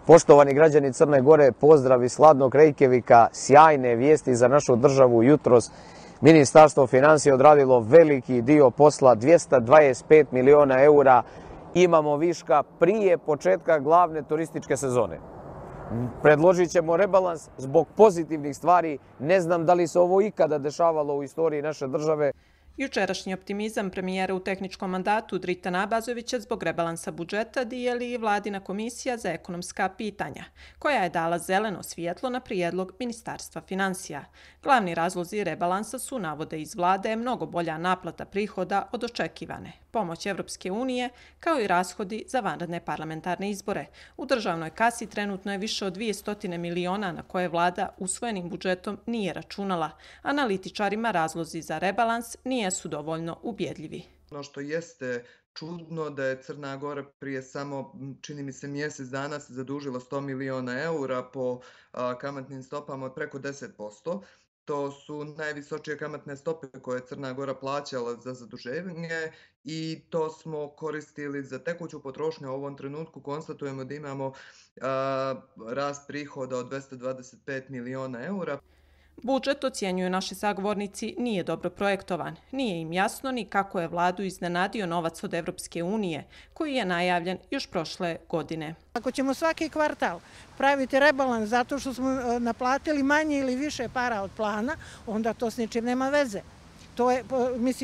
Poštovani građani Crne Gore, pozdrav iz hladnog Reykjavika, sjajne vijesti za našu državu jutros. Ministarstvo financija odradilo veliki dio posla, 225 miliona eura. Imamo viška prije početka glavne turističke sezone. Predložit ćemo rebalans zbog pozitivnih stvari. Ne znam da li se ovo ikada dešavalo u istoriji naše države. Jučerašnji optimizam premijera u tehničkom mandatu Dritana Abazovića zbog rebalansa budžeta dijeli i Vladina komisija za ekonomska pitanja, koja je dala zeleno svjetlo na prijedlog Ministarstva financija. Glavni razlozi rebalansa su, navode iz vlade, mnogo bolja naplata prihoda od očekivane, pomoć Evropske unije, kao i rashodi za vanredne parlamentarne izbore. U državnoj kasi trenutno je više od 200 miliona na koje vlada usvojenim budžetom nije računala. Analitičarima razlozi za rebalans nisu dovoljno ubjedljivi. Ono što jeste čudno da je Crna Gora prije samo, čini mi se, mjesec dana se zadužila 100 miliona eura po kamatnim stopama od preko 10%. To su najvisočije kamatne stope koje je Crna Gora plaćala za zaduženje i to smo koristili za tekuću potrošnju. U ovom trenutku konstatujemo da imamo rast prihoda od 225 miliona eura. Budžet, ocjenjuju naši sagovornici, nije dobro projektovan. Nije im jasno ni kako je vladu iznenadio novac od Evropske unije, koji je najavljen još prošle godine. Ako ćemo svaki kvartal praviti rebalans zato što smo naplatili manje ili više para od plana, onda to s ničim nema veze.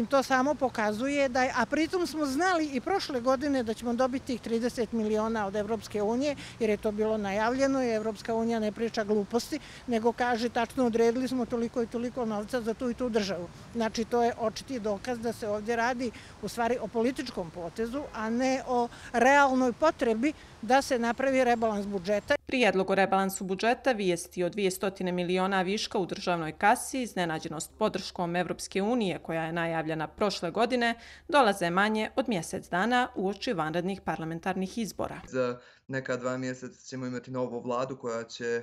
To samo pokazuje da je, a pritom smo znali i prošle godine da ćemo dobiti tih 30 miliona od Evropske unije, jer je to bilo najavljeno i Evropska unija ne priča gluposti, nego kaže tačno odredili smo toliko i toliko novca za tu i tu državu. Znači, to je očiti dokaz da se ovdje radi u stvari o političkom potezu, a ne o realnoj potrebi da se napravi rebalans budžeta. Prijedlog o rebalansu budžeta, vijesti o 200 miliona viška u državnoj kasi, iznenađenost podrškom Evropske unije koja je najavljena prošle godine, dolaze manje od mjesec dana uoči vanrednih parlamentarnih izbora. Za neka 2 mjeseca ćemo imati novu vladu koja će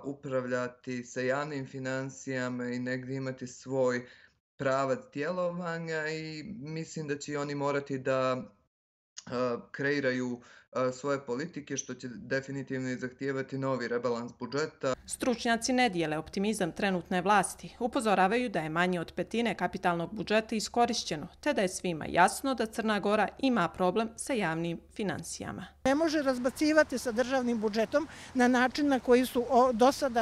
upravljati sa javnim financijama i negdje imati svoj pravac djelovanja i mislim da će oni morati da kreiraju svoje politike, što će definitivno i zahtijevati novi rebalans budžeta. Stručnjaci ne dijele optimizam trenutne vlasti. Upozoravaju da je manje od petine kapitalnog budžeta iskorišćeno, te da je svima jasno da Crna Gora ima problem sa javnim financijama. Ne može razbacivati sa državnim budžetom na način na koji su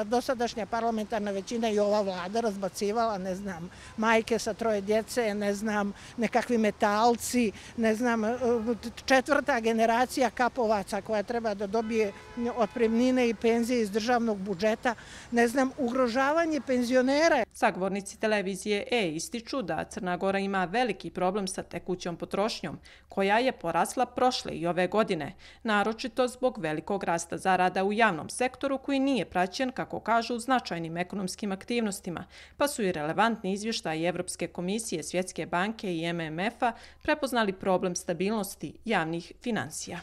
dosadašnja parlamentarna većina i ova vlada razbacivala, ne znam, majke sa 3 djece, ne znam, nekakvi metalci, ne znam, 4. generacija kapovaca koja treba da dobije otpremnine i penzije iz državnog budžeta, ne znam, ugrožavanje penzionera. Sagovornici televizije ističu da Crna Gora ima veliki problem sa tekućom potrošnjom, koja je porasla prošle i ove godine, naročito zbog velikog rasta zarada u javnom sektoru koji nije praćen, kako kažu, značajnim ekonomskim aktivnostima, pa su i relevantni izvještaji Evropske komisije, Svjetske banke i MMF-a prepoznali problem stabilnosti javnih financija.